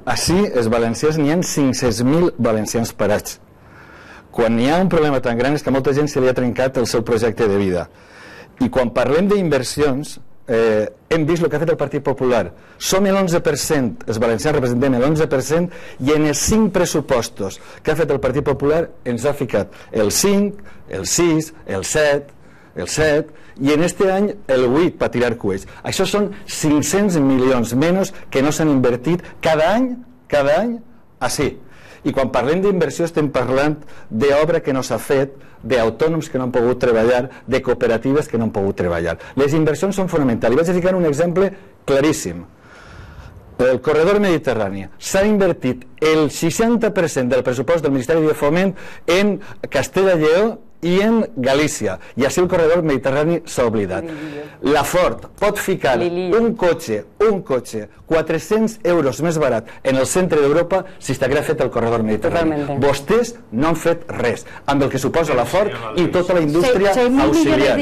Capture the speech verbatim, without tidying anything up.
Així, els valencians, n'hi ha cinc-cents mil valencians parats. Quan hi ha un problema tan gran és que a molta gent se li ha trencat el seu projecte de vida. I quan parlem d'inversions, eh, hem vist el que ha fet el Partit Popular. Som l'onze per cent, els valencians representem l'onze per cent, i en els cinc pressupostos que ha fet el Partit Popular ens ha ficat el cinc, el sis, el set, el set, i en este any el vuit per tirar coets. Això són cinc-cents milions menys que no s'han invertit cada any, cada any, així. I quan parlem d'inversió estem parlant d'obra que no s'ha fet, d'autònoms que no han pogut treballar, de cooperatives que no han pogut treballar. Les inversions són fonamentals. I vaig a ficar un exemple claríssim. El corredor mediterrani. S'ha invertit el seixanta per cent del pressupost del Ministeri de Foment en Castella i Lleó i en Galícia, i així el corredor mediterrani s'ha oblidat. La Ford pot ficar un cotxe, un cotxe, quatre-cents euros més barat en el centre d'Europa si s'hagués fet el corredor mediterrani. Vostès no han fet res, amb el que suposa la Ford i tota la indústria auxiliar.